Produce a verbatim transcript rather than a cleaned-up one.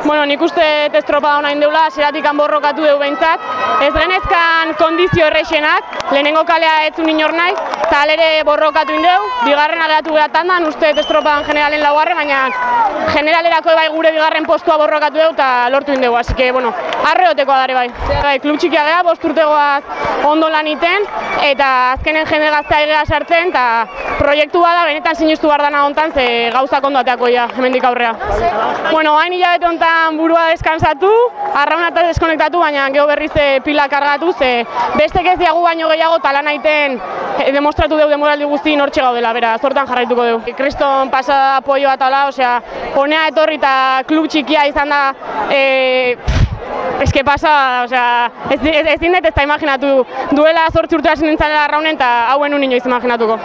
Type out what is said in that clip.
Bueno, nik uste estropada hona indeula, zeratik borrokatu dugu behintzat. Ez genezkan kondizio errexenak, lehenengo kalea ez zuen inor nahi, eta alere borrokatu indeu, bigarren ageratu gara tandan, uste estropadan generalen laugarren, baina generalerako bai gure bigarren postua borrokatu dugu eta lortu indegu, así que, bueno, arreotekoa dare bai. Bai, klub txikia gara, bost urtegoaz ondo lan iten, eta azkenen jende gaztea egea sartzen, eta proiektua da, benetan sinustu behar dana hontan, ze gauzak ondo ateako ja, hemendik aurrea. Bueno, hain hilabete hontan burua deskansatu, arrauna eta deskonektatu, baina geho berriz pila kargatu, ze bestek ez diagu baino gehiago talan aiten demostratu dugu demoraldi guzti nortxe gaudela, bera, zortan jarraituko dugu. Kriston pasada apoioa tala, osea, honea etorri eta klub txikia izan da, e, Ez que pasa, osea, ezin dut ez da imaginatu duela zortzi urte hasi nintzen arraunen eta hauen un inoiz imaginatuko.